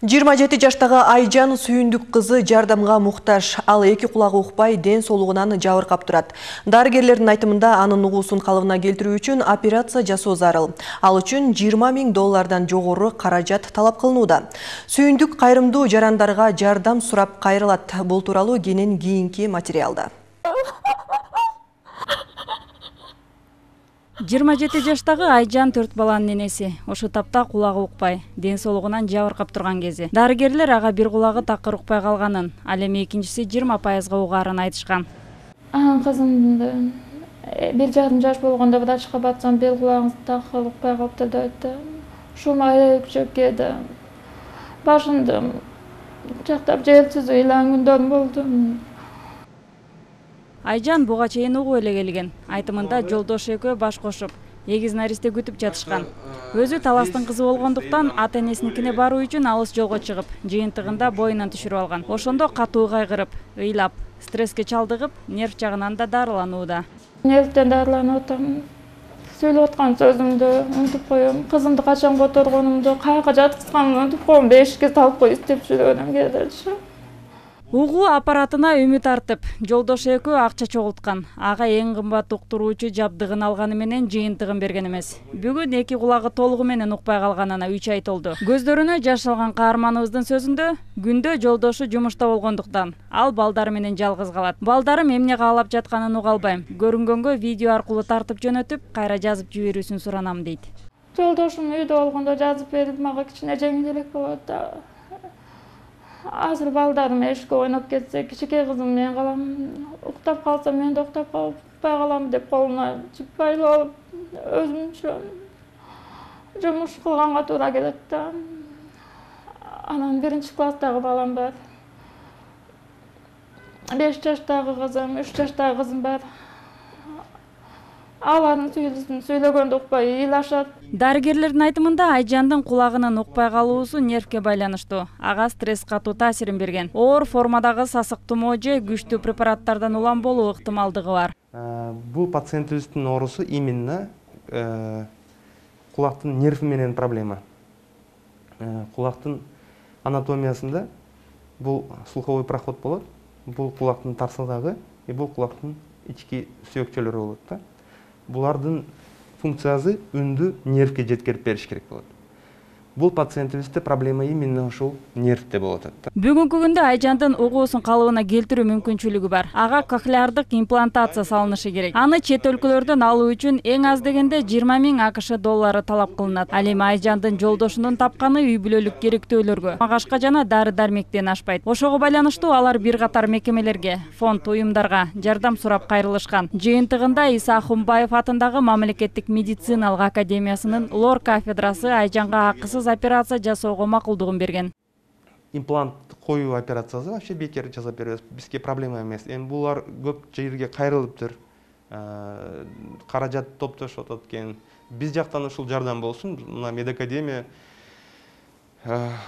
27 жаштагы Айжан Сүйүндүк кызы жардамга муктаж. Ал эки кулагы укпай, ден соолугунан жабыркап турат. Дарыгерлердин айтымында анын угуусун калыбына келтирүү үчүн операция жасоо зарыл. Ал үчүн $20.000 жогору каражат талап кылынууда. Сүйүндүк кайрымдуу жарандарга жардам сурап кайрылат. Бул тууралуу кенен кийинки материалда. 27 жаштагы Айжан 4 баланын энеси. Ошо тапта кулагы укпай, ден соолугунан жабыркап турган кези. Дарыгерлер ага бир кулагы такыр укпай калганын, ал эми экинчиси 20% угаарын айтышкан. Кызымды 1 жарым жаш болгондо врачка барсам, бир кулагыңыз такыр укпай калыптыр деп айтты. Ушума чөп келди. Башымды жактап желсиз ыйланган күндөр болду. Айжан буга чейин угуп эле келген. Айтымында жолдошу экөө баш кошуп, эгиз наристе күтүп жатышкан. Өзү таластын кызы болгондуктан ата-энесиникине баруу үчүн алыс жолго чыгып, жыйынтыгында боюнан түшүрүп алган. Ошондо катуу кайгырып, ыйлап, стресске чалдыгып, нерв жагынан да дарыланууда. Нервден дарыланып атам. Сүйлөп аткан сөзүмдү унутуп коем. Кызымды качан которгонумду, каяка жаткызганымды унутуп коем. Бешикке салып коюп издеп жүргөнүм келди. Угуу аппаратына үмүт артып, жолдошу экөө акча чогулткан. Ага эң кымбат уктуруучу жабдыгын алганы менен жыйынтыгын берген эмес. Бүгүн эки кулагы толугу менен укпай калганына 3 ай толду. Көздөрүнө жаш алган каарманыбыздын сөзүндө, күндө жолдошу жумушта болгондуктан ал балдары менен жалгыз калат. Балдарым эмне каалап жатканын уга албайм. Көрүнгөнгө видео аркылуу тартып жөнөтүп, кайра жазып жиберүүсүн суранам дейт. Жолдошум үйдө болгондо жазып берип, мага кичине жеңилдирээк болот да. Азыр балдарым эшикке ойноп кетсе, кичике кызым мен калам, уктап калса мен да уктап калбай калам деп колуна жип байлап алып, өзүмчө жумуш кылганга туура келет да. Анан 1-класстагы балам бар. 5 жаштагы кызым, 3 жаштагы кызым бар. Алардын сүйлөгөндө укпай ыйлашат. Дарыгерлердин айтымында Айжандын кулагынын укпай калуусу нервке байланыштуу. Ага стресс катуу таасирин берген. Оор формадагы сасык тумоо же күчтүү препараттардан улам болуу ыктымалдыгы бар. Бул пациентибиздин оорусу именно кулактын нерви менен проблема. Кулактын анатомиясында бул слуховой проход болот. Бул кулактын тарсылдагы, бул кулактын ички сөөкчөлөрү болот да. Булардын функциясы үндү нервге жеткирип бериш керек болот. Бул пациентибизде проблема именно ушул нервде болот да. Бүгүнкү күндө Айжандын угуусун калыбына келтирүү мүмкүнчүлүгү бар. Ага кохлеардык имплантация салынышы керек. Аны чет өлкөлөрдөн алуу үчүн эң аз дегенде $20.000 талап кылынат. Ал эми Айжандын жолдошунун тапканы үй бүлөлүк керектөөлөргө, магашка жана дары-дармектен ашпайт. Ошого байланыштуу алар бир катар мекемелерге, фонд уюмдарга жардам сурап кайрылышкан. Жыйынтыгында Иса Ахунбаев атындагы Мамлекеттик медициналык академиясынын лор кафедрасы Айжанга акысыз операция жасоого макулдугун берген. Имплант коюу операциясы вообще бекер жасап беребиз. Бизге проблема эмес. Эми булар көп жерге кайрылыптыр. Каражат топтошуп атат экен. Биз жактан ушул жардам болсун. Мына медакадемия,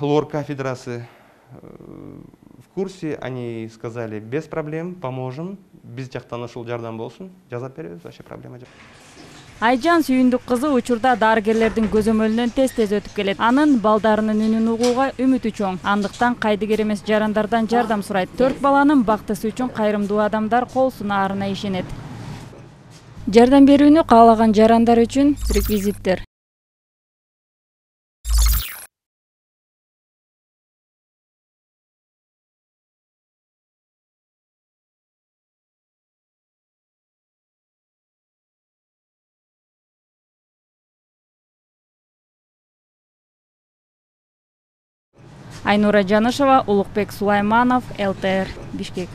лор кафедрасы в курсе, они сказали, без проблем, поможем. Биз жактан ушул жардам болсун, жасап беребиз, вообще проблема жок. Айжан Сүйүндүк кызы учурда дарыгерлердин көзөмөлүнөн тез өтүп келет. Анын балдарынын үнүн угууга үмүтү чоң. Андыктан кайдыгер эмес жарандардан жардам сурайт. 4 баланын бактысы үчүн кайрымдуу адамдар кол сунаарына ишенет. Жардам берүүнү каалаган жарандар үчүн реквизиттер. Айнура Жанышева, Улукбек Сулайманов, ЛТР, Бишкек.